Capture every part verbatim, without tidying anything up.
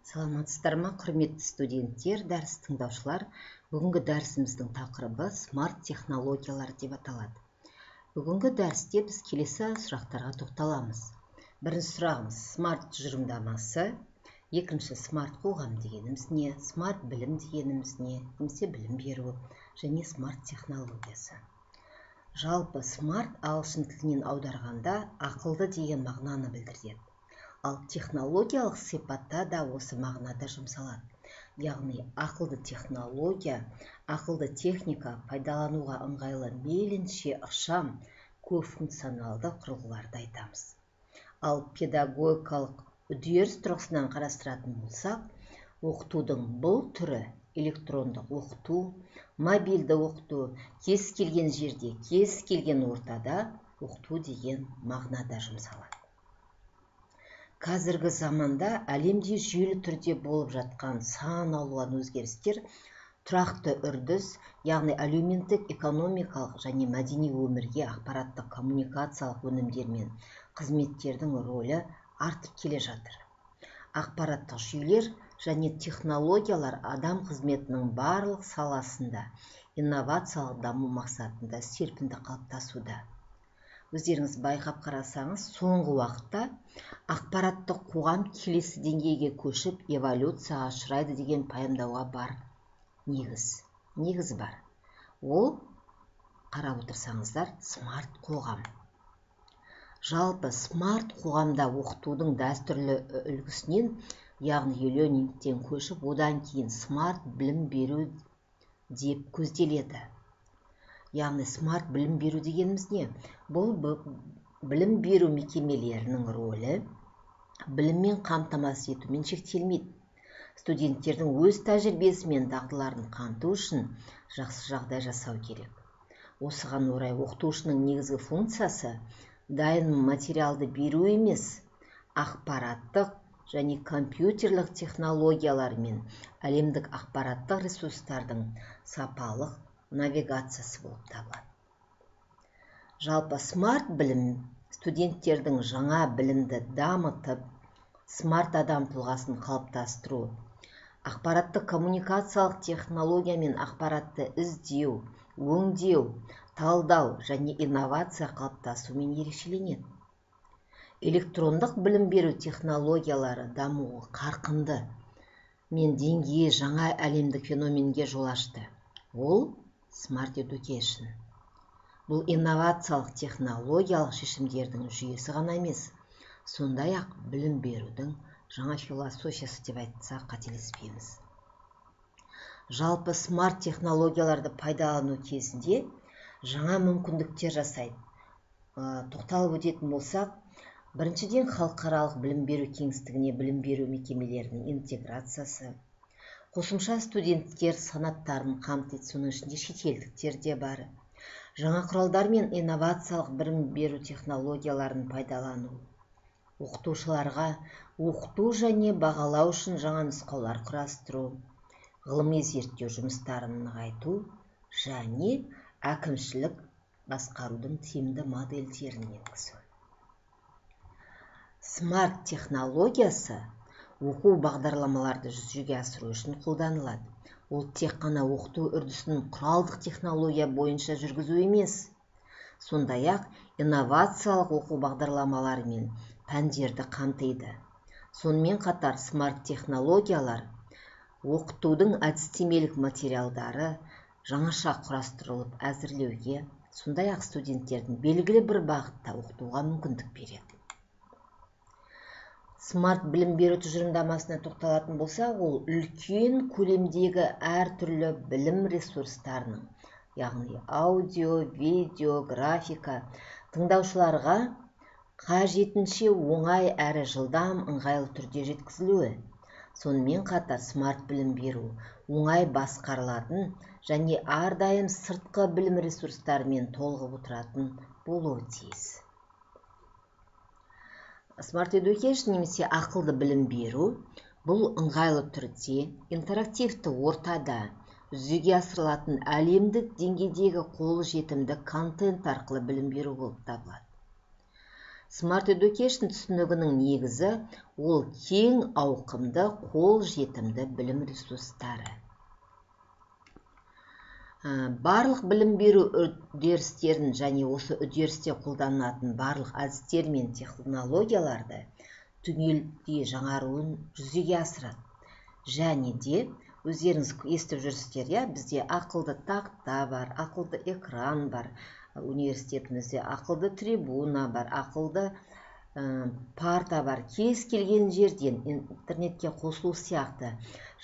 Саламатсыздар ма, құрметті студенттер, дәріс тыңдаушылар. Бүгінгі дәрісіміздің тақырыбы смарт технологиялар деп аталады. Бүгінгі дәрісте біз келесі сұрақтарға тоқталамыз. Бірінші сұрағымыз смарт тұжырымдамасы, екінші смарт қоғам дегеніміз не, смарт білім дегеніміз не, немесе білім беру және смарт технологиясы. Жалпы смарт ағылшын тілінен аударғанда ақылды деген мағынаны білдіреді. Ал технологиялық сипатта да осы мағынада жұмсалады. Яғни ақылды технология, ақылды техника пайдалануға ыңғайлы мейлінше ықшам, көп функционалды құрылғыларды айтамыз. Ал педагогикалық үдеріс тұрғысынан қарастыратын болсақ, оқытудың бұл түрі электрондық оқыту, мобильді оқыту, кез келген жерде, кез келген ортада оқыту деген мағынада жұмсалады. Қазіргі заманда әлемде жүйелі түрде болып жатқан сан алуан өзгерістер тұрақты үрдіс, яғни әлеуметтік, экономикалық және мәдени өмірге ақпараттық коммуникациялық өнімдер мен қызметтердің рөлі артып келе жатыр. Ақпараттық жүйелер және технологиялар адам қызметінің барлық саласында инновациялық даму мақсатында серпінді қалыптасуда. Өздеріңіз байқап қарасаңыз, соңғы уақытта ақпараттық қоғам келесі деңгейге көшіп эволюцияға ұшырайды деген пайымдауға бар негіз. Негіз бар. Ол, қарап отырсаңыздар, смарт қоғам. Жалпы смарт қоғамда оқытудың дәстүрлі үлгісінен, яғни e-learningтен көшіп, одан кейін смарт білім беру деп көзделеді. Яғни смарт білім беру дегеніміз не? Бұл білім беру мекемелерінің рөлі біліммен қамтамасыз етумен шектелмейді. Студенттердің өз тәжірибесі мен дағдыларын қамту үшін жақсы жағдай жасау керек. Осыған орай оқытушының негізгі функциясы дайын материалды беру емес, ақпараттық және компьютерлік технологиялар мен әлемдік ақпараттық ресурстардың сапалық навигациясы болып табылады. Жалпы смарт білім студенттердің жаңа білімді дамытып, смарт адам тұлғасын қалыптастыру, ақпараттық коммуникациялық технология мен ақпаратты іздеу, өңдеу, талдау және инновация қалыптасуымен ерекшеленеді. Электрондық білім беру технологиялары дамуы қарқынды мен деңгейі жаңа әлемдік феноменге жол ашты. Ол Smart Education. Бұл инновациялық технологиялық шешімдердің жүйесі ғана емес, сондай-ақ білім берудің жаңа философиясы деп айтсақ қателеспейміз. Жалпы смарт технологияларды пайдалану кезінде жаңа мүмкіндіктер жасайды. Тоқталып өтетін болсақ, біріншіден халықаралық білім беру кеңістігіне білім беру мекемелерінің интеграциясы, қосымша студенттер санаттарын қамтиды, соның ішінде шетелдіктер де бар. Жаңа құралдар мен инновациялық білім беру технологияларын пайдалану. Оқытушыларға оқыту және бағалау үшін жаңа нұсқаулар құрастыру, ғылыми зерттеу жұмыстарын нығайту және әкімшілік басқарудың тиімді модельдерін енгізу. Смарт технологиясы оқу бағдарламаларды жүзеге асыру үшін қолданылады. Ол тек қана оқыту үрдісін құралдық технология бойынша жүргізу емес, сондай-ақ инновациялық оқу бағдарламалары мен пәндерді қамтиды. Сонымен қатар смарт технологиялар оқытудың әдістемелік материалдары жаңаша құрастырылып әзірлеуге, сондай-ақ студенттердің белгілі бір бағытта оқытуға мүмкіндік береді. Смарт білім беру тұжырымдамасына тоқталатын болсақ, ол үлкен көлемдегі әртүрлі білім ресурстарының, яғни аудио, видео, графика, тыңдаушыларға қажетінше оңай әрі жылдам ыңғайлы түрде жеткізілуі. Сонымен қатар смарт білім беру оңай басқарылатын және әрдайым сыртқы білім ресурстарымен толығып отыратын болуы тиіс. Smart Education немесе ақылды білім беру бұл ыңғайлы түрде интерактивті ортада жүзеге асырылатын әлемдік деңгейдегі қолжетімді контент арқылы білім беру болып табылады. Smart Education түсінігінің негізі ол кең ауқымды, қол жетімді білім ресурстары. Барлық білім беру үдерістерін және осы үдерісте қолданылатын барлық әдістер мен технологияларды түгелдей жаңаруын жүзеге асырады. Және де өздеріңіз естіп жүрсіздер, иә, бізде ақылды тақта бар, ақылды экран бар, университетімізде ақылды трибуна бар, ақылды ә, парта бар. Кез келген жерден интернетке қосылу сияқты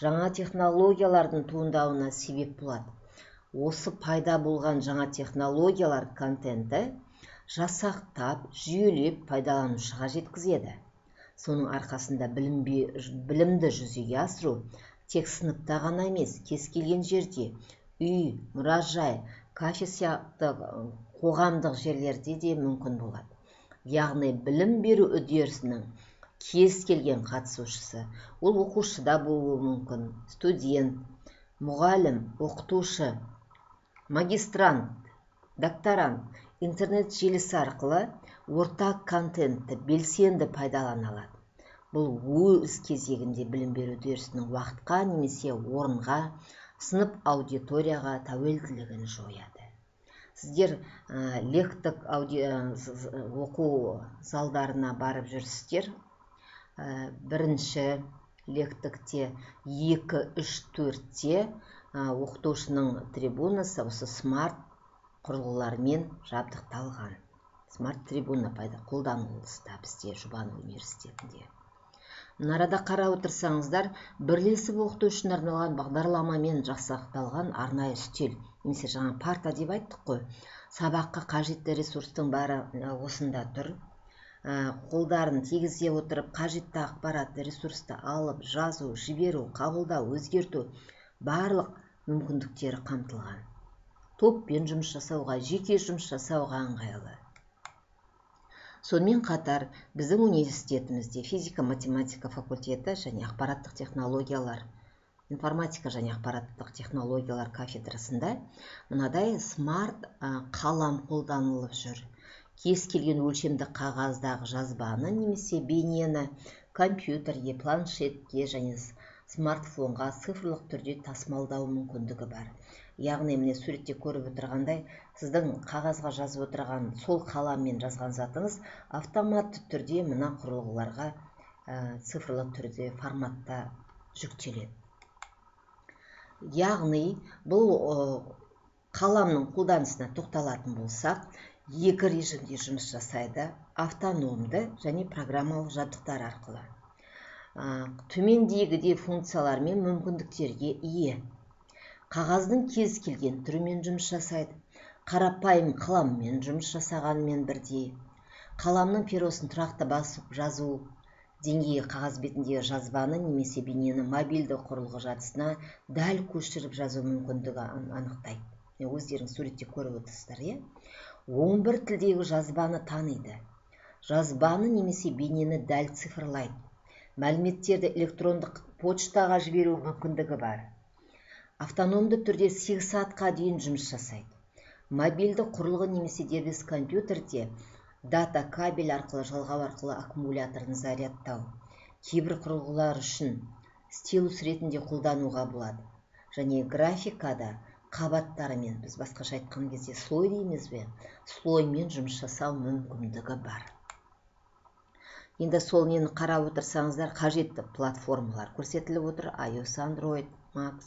жаңа технологиялардың туындауына себеп болады. Осы пайда болған жаңа технологиялар контенті жасақтап, жүйелеп пайдаланушыға жеткізеді. Соның арқасында білім, білімді жүзеге асыру тек сыныпта ғана емес, кез келген жерде, үй, мұражай, кафе сияқты қоғамдық жерлерде де мүмкін болады. Яғни білім беру үдерісінің кез келген қатысушысы, ол оқушыда болуы мүмкін, студент, мұғалім, оқытушы, магистрант, докторант, интернет желісі арқылы ортақ контентті белсенді пайдалана алады. Бұл өз кезегінде білім беру үдерісінің уақытқа немесе орынға, сынып аудиторияға тәуелділігін жояды. Сіздер ә, лектік оқу залдарына барып жүрсіздер. Ә, бірінші лектікте екі, үш, төртте оқытушының трибунасы осы смарт құрылғылармен жабдықталған. Смарт трибуна пайда қолданылыста бізде Жұбанов университетінде. Мынарада қарап отырсаңыздар, бірлесіп оқыту үшін арналған бағдарламамен жасақталған арнайы үстел, немесе жаңа парта деп айттық қой. Сабаққа қажетті ресурстың бәрі осында тұр. Қолдарын тигізе отырып, қажетті ақпаратты, ресурсты алып, жазу, жіберу, қабылдау, өзгерту барлық мүмкіндіктері қамтылған. Топпен жұмыс жасауға, жеке жұмыс жасауға ыңғайлы. Сонымен қатар біздің университетімізде физика-математика факультеті және ақпараттық технологиялар, информатика және ақпараттық технологиялар кафедрасында мынадай смарт қалам қолданылып жүр. Кез келген өлшемді қағаздағы жазбаны немесе бейнені компьютерге, планшетке және смартфонға цифрлық түрде тасымалдау мүмкіндігі бар. Яғни, міне суретте көріп отырғандай, сіздің қағазға жазып отырған сол қаламмен жазған затыңыз автоматты түрде мына құрылғыларға ә, цифрлық түрде форматта жүктеледі. Яғни, бұл ә, қаламның қолданысына тоқталатын болсақ, екі режимде жұмыс жасайды: автономды және программалық жабдықтар арқылы. Ә, төмендегідей функциялар мен мүмкіндіктерге ие. Қағаздың кез келген түрімен жұмыс жасайды. Қарапайым қаламмен жұмыс жасағанмен бірдей. Қаламның перосын тұрақты басып жазу, деңгейі қағаз бетіндегі жазбаны немесе бейнені мобильді құрылғы жадысына дәл көшіріп жазу мүмкіндігі анықтайды. Өздерің суретте көріп отырсыздар, иә? он бір тілдегі жазбаны таниды. Жазбаны немесе бейнені дәл цифрлайды. Мәліметтерді электрондық почтаға жіберу мүмкіндігі бар. Автономды түрде сегіз сағатқа дейін жұмыс жасайды. Мобильді құрылғы немесе дербес компьютерде дата кабель арқылы жалғау арқылы аккумуляторын зарядтау. Кейбір құрылғылар үшін стилус ретінде қолдануға болады. Және графикада қабаттарымен, біз басқаша айтқан кезде слой дейміз бе, слоймен жұмыс жасау мүмкіндігі бар. Енді сол нені қарап отырсаңыздар, қажетті платформалар көрсетіліп отыр: iOS, Android, Mac,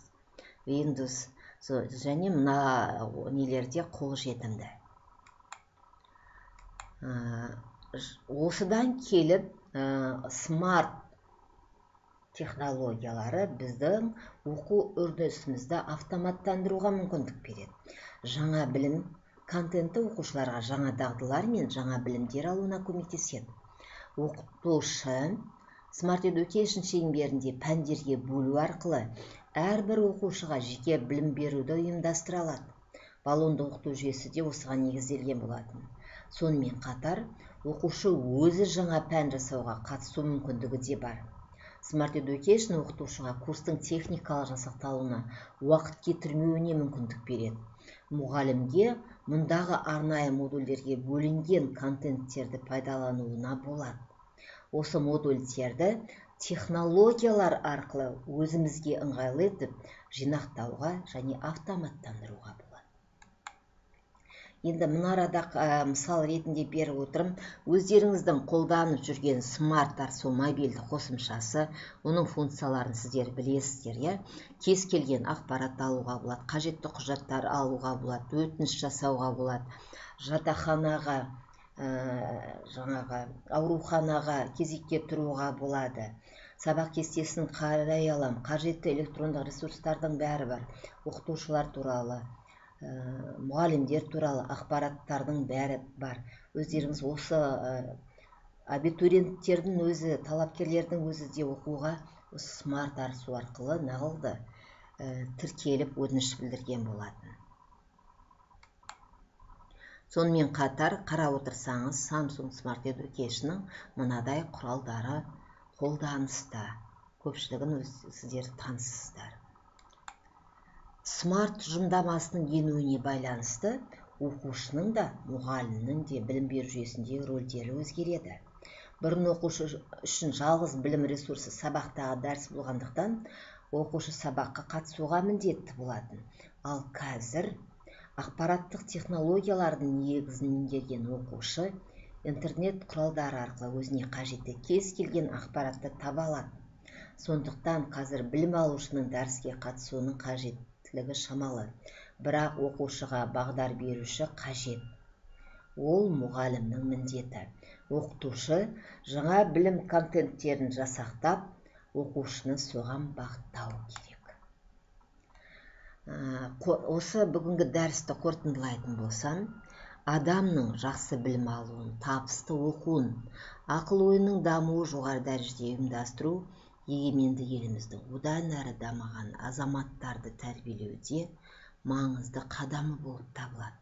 Windows және мына нелерде қол жетімді. Осыдан келіп, смарт технологиялары біздің оқу үрдісімізді автоматтандыруға мүмкіндік береді. Жаңа білім контенті оқушыларға жаңа дағдылар мен жаңа білімдер алуына көмектеседі. Оқытушы Smart Education шеңберінде пәндерге бөлу арқылы әрбір оқушыға жеке білім беруді ұйымдастыра алады. Баллонды оқыту жүйесі де осыған негізделген болатын. Сонымен қатар, оқушы өзі жаңа пән жасауға қатысу мүмкіндігі де бар. Smart Education оқытушыға курстың техникалық жасақталуына уақыт кетірмеуіне мүмкіндік береді. Мұғалімге мұндағы арнайы модульдерге бөлінген контенттерді пайдалануына болады. Осы модульдерді технологиялар арқылы өзімізге ыңғайлы етіп жинақтауға және автоматтандыруға болады. Енді мұнарада мысал ретінде беріп отырым, өздеріңіздің қолданып жүрген Smart Darsu мобильді қосымшасы, оның функцияларын сіздер білесіздер, иә? Кез келген ақпарат алуға болады, қажетті құжаттар алуға болады, өтініш жасауға болады, жатақханаға, жаңағы ауруханаға кезекке тұруға болады. Сабақ кестесін қарай алам, қажетті электрондық ресурстардың бәрі бар. Оқытушылар туралы, мұғалімдер туралы ақпараттардың бәрі бар. Өздеріңіз осы абитуриенттердің өзі, талапкерлердің өзі де оқуға Smart Darsu арқылы нағылды тіркеліп өтініш білдірген болатын. Сонымен қатар қарап отырсаңыз, Samsung Smart Education'ның мынадай құралдары қолданыста. Көпшілігін сіздер танысыздар. Smart тұжырымдамасының енуіне байланысты оқушының да, мұғалімнің де білім беру жүйесіндегі рөлдері өзгереді. Бұрын оқушы үшін жалғыз білім ресурсы сабақтағы дәріс болғандықтан, оқушы сабаққа қатысуға міндетті болатын. Ал қазір ақпараттық технологиялардың негізін меңгерген оқушы интернет құралдары арқылы өзіне қажетті кез келген ақпаратты таба алады. Сондықтан қазір білім алушының дәріске қатысуының қажеттілігі шамалы, бірақ оқушыға бағдар беруші қажет. Ол мұғалімнің міндеті. Оқытушы жаңа білім контенттерін жасақтап, оқушыны соған бағыттау керек. Осы бүгінгі дәрісті қорытындылайтын болсам, адамның жақсы білім алуын, табысты оқуын, ақыл ойының дамуы жоғары дәрежеде ұйымдастыру егеменді еліміздің одан әрі дамыған азаматтарды тәрбиелеуде маңызды қадамы болып табылады.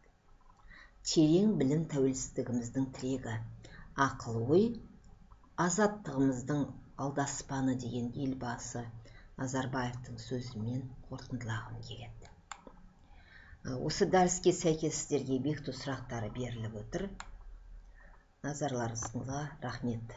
Терең білім тәуелсіздігіміздің тірегі, ақыл ой азаттығымыздың алдаспаны деген елбасы Назарбаевтың сөзімен қорытындылағым келеді. Осы дәріске сәйкес сіздерге бекіту сұрақтары беріліп отыр. Назарларыңызға рахмет.